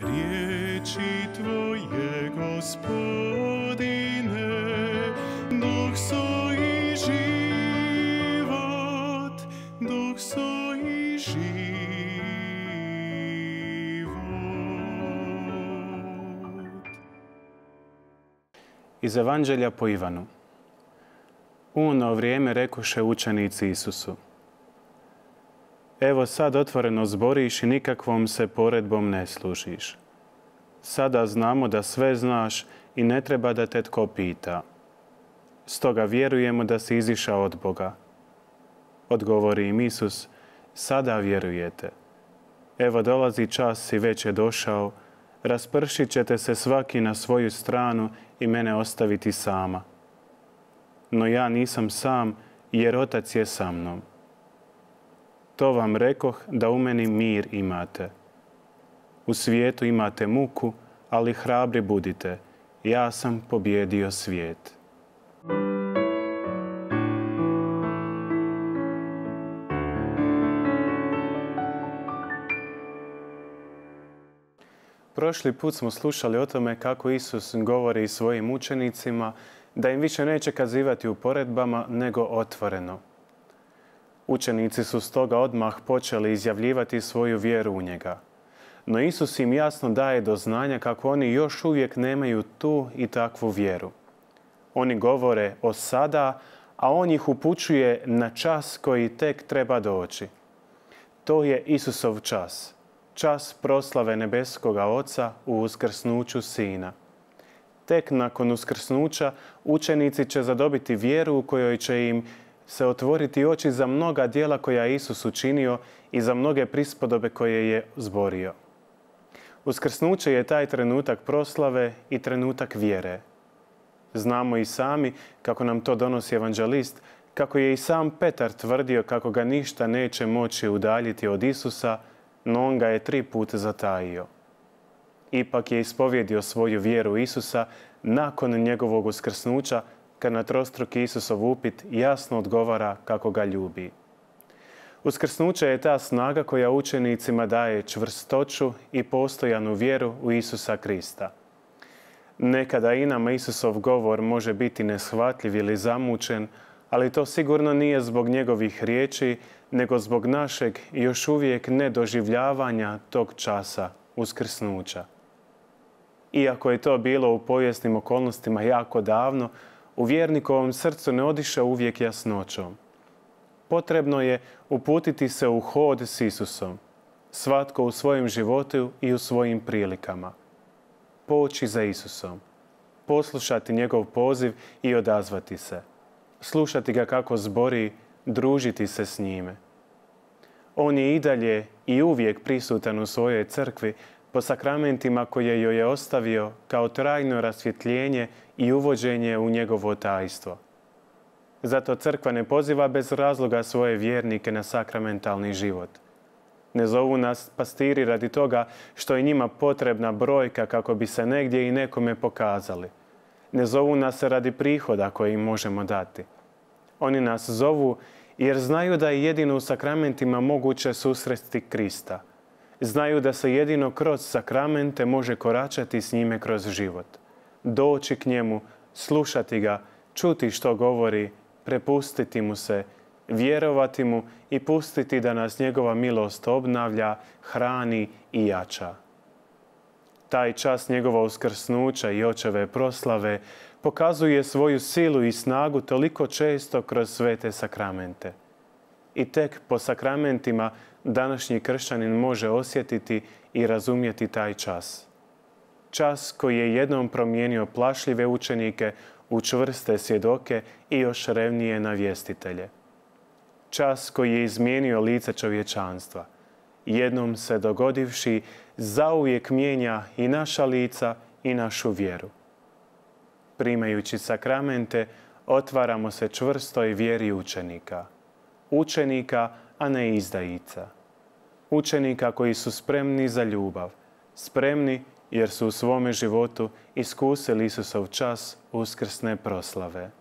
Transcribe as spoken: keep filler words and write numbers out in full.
Riječi Tvoje, Gospodine, duh su i život, duh su i život. Iz Evanđelja po Ivanu. U ono vrijeme rekoše učenici Isusu: Evo sad otvoreno zboriš i nikakvom se poredbom ne služiš. Sada znamo da sve znaš i ne treba da te tko pita. Stoga vjerujemo da si izišao od Boga. Odgovori im Isus: Sada vjerujete. Evo dolazi čas i već je došao, raspršit ćete se svaki na svoju stranu i mene ostaviti sama. No ja nisam sam, jer Otac je sa mnom. To vam rekoh da u meni mir imate. U svijetu imate muku, ali hrabri budite. Ja sam pobijedio svijet. Prošli put smo slušali o tome kako Isus govori svojim učenicima da im više neće kazivati u poredbama, nego otvoreno. Učenici su stoga odmah počeli izjavljivati svoju vjeru u njega. No Isus im jasno daje do znanja kako oni još uvijek nemaju tu i takvu vjeru. Oni govore o sada, a on ih upućuje na čas koji tek treba doći. To je Isusov čas. Čas proslave nebeskoga Oca u uskrsnuću Sina. Tek nakon uskrsnuća učenici će zadobiti vjeru u kojoj će im se otvoriti oči za mnoga djela koja je Isus učinio i za mnoge prispodobe koje je zborio. Uskrsnuće je taj trenutak proslave i trenutak vjere. Znamo i sami, kako nam to donosi evanđelist, kako je i sam Petar tvrdio kako ga ništa neće moći udaljiti od Isusa, no on ga je tri puta zatajio. Ipak je ispovjedio svoju vjeru u Isusa nakon njegovog uskrsnuća, kad na trostruki Isusov upit jasno odgovara kako ga ljubi. Uskrsnuće je ta snaga koja učenicima daje čvrstoću i postojanu vjeru u Isusa Krista. Nekada i nama Isusov govor može biti neshvatljiv ili zamućen, ali to sigurno nije zbog njegovih riječi, nego zbog našeg još uvijek nedoživljavanja tog časa uskrsnuća. Iako je to bilo u povijesnim okolnostima jako davno, u vjernikovom srcu ne odiše uvijek jasnoćom. Potrebno je uputiti se u hod s Isusom, svatko u svojem životu i u svojim prilikama. Poći za Isusom, poslušati njegov poziv i odazvati se. Slušati ga kako zbori, družiti se s njime. On je i dalje i uvijek prisutan u svojoj crkvi po sakramentima koje joj je ostavio kao trajno rasvjetljenje i uvođenje u njegovo tajstvo. Zato crkva ne poziva bez razloga svoje vjernike na sakramentalni život. Ne zovu nas pastiri radi toga što je njima potrebna brojka kako bi se negdje i nekome pokazali. Ne zovu nas radi prihoda koje im možemo dati. Oni nas zovu jer znaju da je jedino u sakramentima moguće susresti Krista. Znaju da se jedino kroz sakramente može koračati s njime kroz život. Doći k njemu, slušati ga, čuti što govori, prepustiti mu se, vjerovati mu i pustiti da nas njegova milost obnavlja, hrani i jača. Taj čas njegova uskrsnuća i očeve proslave pokazuje svoju silu i snagu toliko često kroz svete sakramente. I tek po sakramentima današnji kršćanin može osjetiti i razumjeti taj čas. Čas koji je jednom promijenio plašljive učenike u čvrste svjedoke i još revnije navjestitelje. Čas koji je izmijenio lice čovječanstva. Jednom se dogodivši, zauvijek mijenja i naša lica i našu vjeru. Primajući sakramente, otvaramo se čvrstoj vjeri učenika. Učenika, a ne izdajica. Učenika koji su spremni za ljubav. Spremni jer su u svome životu iskusili Isusov čas uskrsne proslave.